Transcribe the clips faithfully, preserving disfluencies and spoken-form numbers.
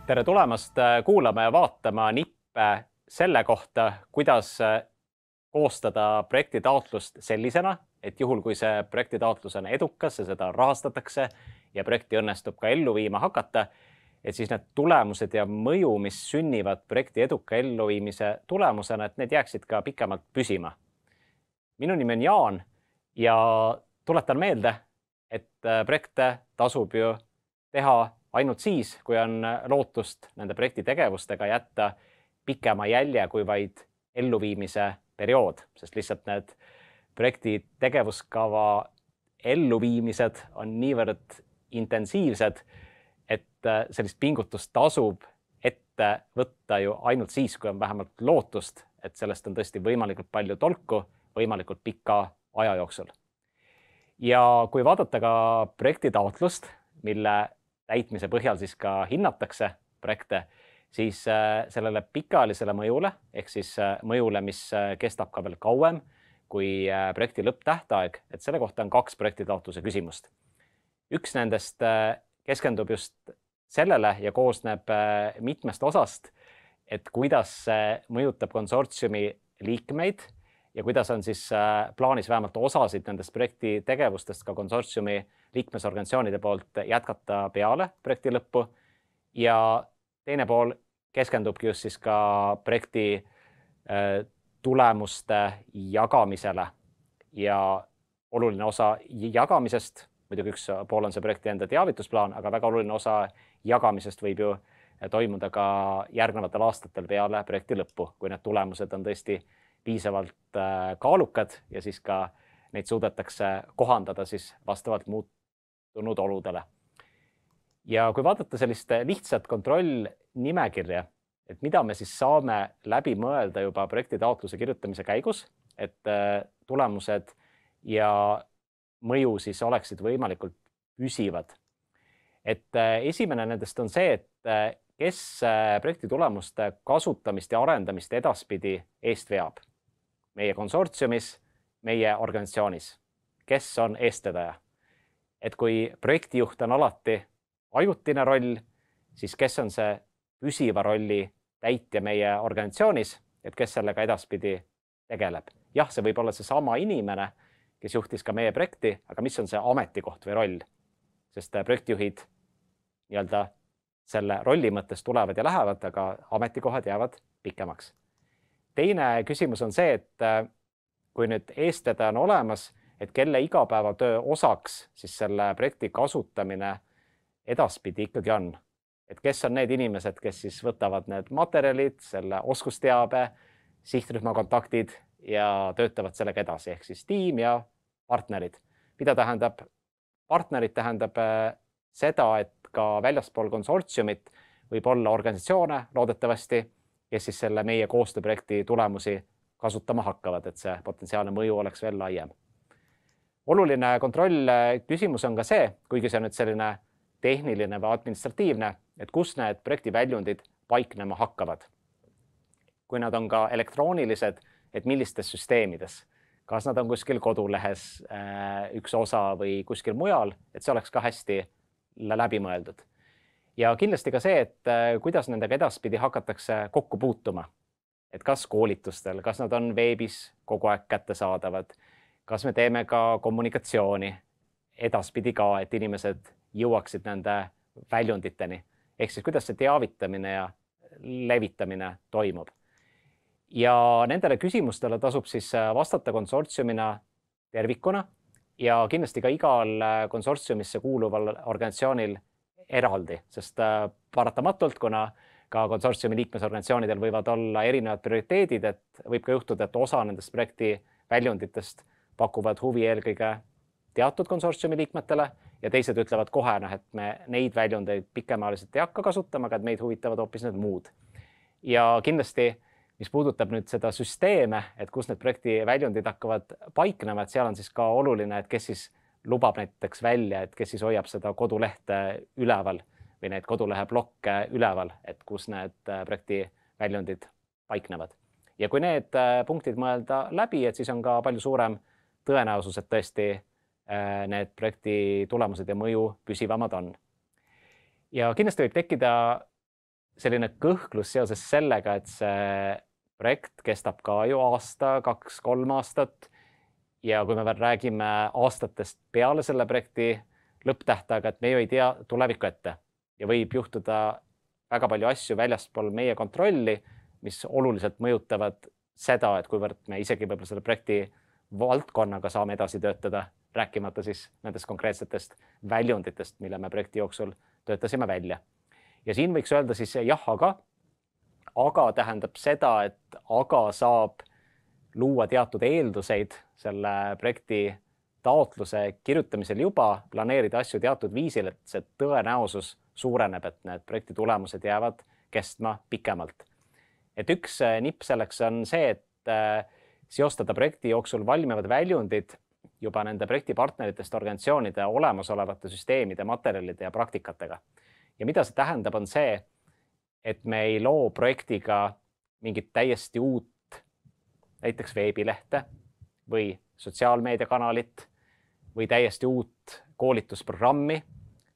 Tere tulemast kuulama ja vaatama nippe selle kohta, kuidas koostada projektitaotlust sellisena, et juhul kui see projektitaotlus on edukas ja seda rahastatakse ja projekti õnnestub ka ellu viima hakata, et siis need tulemused ja mõju, mis sünnivad projekti eduka elluviimise tulemusena, et need jääksid ka pikemalt püsima. Minu nimi on Jaan ja tuletan meelde, et projekte tasub ju teha ainult siis, kui on lootust nende projekti tegevustega jätta pikema jälje kui vaid elluviimise periood, sest lihtsalt need projekti tegevuskava elluviimised on niivõrd intensiivsed, et sellist pingutust tasub ette võtta ju ainult siis, kui on vähemalt lootust, et sellest on tõesti võimalikult palju tolku võimalikult pika aja jooksul. Ja kui vaadata ka projektitaotlust, mille täitmise põhjal siis ka hinnatakse projekte, siis sellele pikaajalisele mõjule, ehk siis mõjule, mis kestab ka veel kauem kui projekti lõpptähtaeg, et selle kohta on kaks projektitaotluse küsimust. Üks nendest keskendub just sellele ja koosneb mitmest osast, et kuidas see mõjutab konsortsiumi liikmeid ja kuidas on siis plaanis vähemalt osasid nendest projekti tegevustest ka konsortsiumi liikmesorganisatsioonide poolt jätkata peale projekti lõppu. Ja teine pool keskendubki just siis ka projekti tulemuste jagamisele ja oluline osa jagamisest, muidugi üks pool on see projekti enda teavitusplaan, aga väga oluline osa jagamisest võib ju toimuda ka järgnevatel aastatel peale projekti lõppu, kui need tulemused on tõesti piisavalt kaalukad ja siis ka neid suudetakse kohandada siis vastavalt muutunud oludele. Ja kui vaadata sellist lihtsat kontrollnimekirja, et mida me siis saame läbi mõelda juba projekti taotluse kirjutamise käigus, et tulemused ja mõju siis oleksid võimalikult püsivad. Et esimene nendest on see, et kes projekti tulemuste kasutamist ja arendamist edaspidi eest veab. Meie konsortsiumis, meie organisatsioonis. Kes on eestvedaja? Et kui projektijuht on alati ajutine roll, siis kes on see püsiva rolli täitja meie organisatsioonis, et kes sellega edaspidi tegeleb? Jah, see võib olla see sama inimene, kes juhtis ka meie projekti, aga mis on see ametikoht või roll? Sest projektijuhid nii-öelda selle rolli mõttes tulevad ja lähevad, aga ametikohad jäävad pikemaks. Teine küsimus on see, et kui nüüd eestvedaja on olemas, et kelle igapäevatöö osaks siis selle projekti kasutamine edaspidi ikkagi on. Et kes on need inimesed, kes siis võtavad need materjalid, selle oskusteabe, sihtrühma kontaktid ja töötavad sellega edasi, ehk siis tiim ja partnerid. Mida tähendab? Partnerid tähendab seda, et ka väljaspool konsortsiumit võib olla organisatsioone loodetavasti, kes siis selle meie koostööprojekti tulemusi kasutama hakkavad, et see potentsiaalne mõju oleks veel laiem. Oluline kontroll küsimus on ka see, kuigi see on nüüd selline tehniline või administratiivne, et kus need projekti väljundid paiknema hakkavad. Kui nad on ka elektroonilised, et millistes süsteemides, kas nad on kuskil kodulehes üks osa või kuskil mujal, et see oleks ka hästi läbi mõeldud. Ja kindlasti ka see, et kuidas nendega edaspidi hakatakse kokku puutuma. Et kas koolitustel, kas nad on veebis kogu aeg kättesaadavad, kas me teeme ka kommunikatsiooni edaspidi ka, et inimesed jõuaksid nende väljunditeni. Ehk siis kuidas see teavitamine ja levitamine toimub. Ja nendele küsimustele tasub siis vastata konsortsiumina tervikuna ja kindlasti ka igal konsortsiumisse kuuluval organisatsioonil eraldi, sest paratamatult, kuna ka konsortsiumi liikmesorganisatsioonidel võivad olla erinevad prioriteedid, et võib ka juhtuda, et osa nendest projekti väljunditest pakuvad huvi eelkõige teatud konsortsiumi liikmetele ja teised ütlevad kohe, et me neid väljundeid pikemaajaliselt ei hakka kasutama, aga meid huvitavad hoopis need muud. Ja kindlasti, mis puudutab nüüd seda süsteeme, et kus need projekti väljundid hakkavad paiknema, et seal on siis ka oluline, et kes siis lubab näiteks välja, et kes siis hoiab seda kodulehte üleval või need kodulehe blokke üleval, et kus need projekti väljundid paiknevad. Ja kui need punktid mõelda läbi, et siis on ka palju suurem tõenäosus, et tõesti need projekti tulemused ja mõju püsivamad on. Ja kindlasti võib tekkida selline kõhklus seoses sellega, et see projekt kestab ka ju aasta, kaks, kolm aastat. Ja kui me veel räägime aastatest peale selle projekti lõpptähtaega, et me ju ei tea tulevikku ette ja võib juhtuda väga palju asju väljaspool meie kontrolli, mis oluliselt mõjutavad seda, et kuivõrd me isegi võib-olla selle projekti valdkonnaga saame edasi töötada, rääkimata siis nendest konkreetsetest väljunditest, mille me projekti jooksul töötasime välja. Ja siin võiks öelda siis jah, aga, aga tähendab seda, et aga saab luua teatud eelduseid selle projekti taotluse kirjutamisel juba, planeerida asju teatud viisil, et see tõenäosus suureneb, et need projekti tulemused jäävad kestma pikemalt. Et üks nipp selleks on see, et seostada projekti jooksul valmivad väljundid juba nende projektipartneritest organisatsioonide olemasolevate süsteemide, materjalide ja praktikatega. Ja mida see tähendab, on see, et me ei loo projektiga mingit täiesti uut, näiteks veebilehte või sotsiaalmeediakanalit või täiesti uut koolitusprogrammi,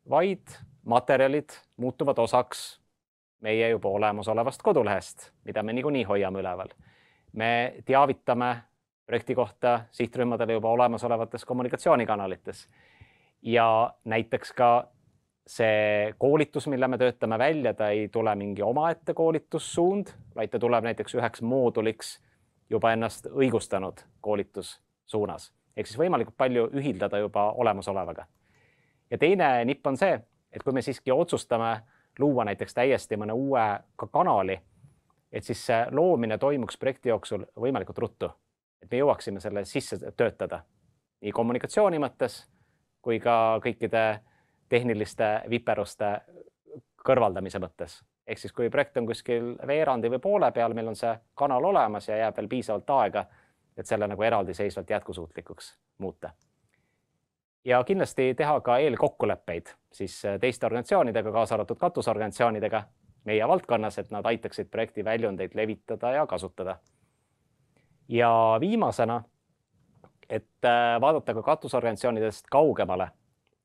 vaid materjalid muutuvad osaks meie juba olemasolevast kodulehest, mida me niikuinii hoiame üleval. Me teavitame projekti kohta sihtrühmadele juba olemasolevates kommunikatsioonikanalites ja näiteks ka see koolitus, mille me töötame välja, ta ei tule mingi omaette koolitussuund, vaid ta tuleb näiteks üheks mooduliks juba ennast õigustanud koolitussuunas. Ehk siis võimalikult palju ühildada juba olemasolevaga. Ja teine nipp on see, et kui me siiski otsustame luua näiteks täiesti mõne uue kanali, et siis see loomine toimuks projekti jooksul võimalikult ruttu. Et me jõuaksime selle sisse töötada nii kommunikatsiooni mõttes kui ka kõikide tehniliste viperuste kõrvaldamise mõttes. Ehk siis kui projekt on kuskil veerandi või poole peal, meil on see kanal olemas ja jääb veel piisavalt aega, et selle nagu eraldiseisvalt jätkusuutlikuks muuta. Ja kindlasti teha ka eelkokkuleppeid siis teiste organisatsioonidega, kaasa arvatud katusorganisatsioonidega meie valdkonnas, et nad aitaksid projekti väljundeid levitada ja kasutada. Ja viimasena, et vaadata ka katusorganisatsioonidest kaugemale,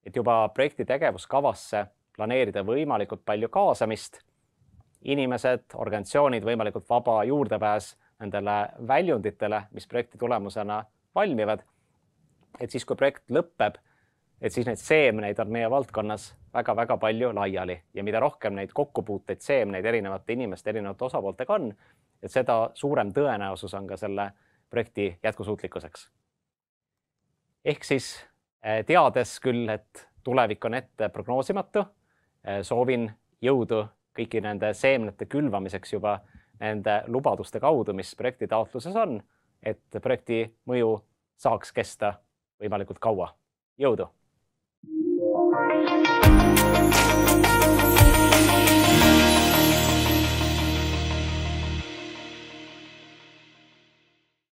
et juba projekti tegevuskavasse planeerida võimalikult palju kaasamist, inimesed, organisatsioonid, võimalikult vaba juurdepääs nendele väljunditele, mis projekti tulemusena valmivad. Et siis, kui projekt lõpeb, et siis neid seemneid on meie valdkonnas väga-väga palju laiali ja mida rohkem neid kokkupuuteid seemneid erinevate inimeste, erinevate osapooltega on, et seda suurem tõenäosus on ka selle projekti jätkusuutlikkuseks. Ehk siis teades küll, et tulevik on ette prognoosimatu, soovin jõudu kõiki nende seemnete külvamiseks juba nende lubaduste kaudu, mis projekti taotluses on, et projekti mõju saaks kesta võimalikult kaua. Jõudu!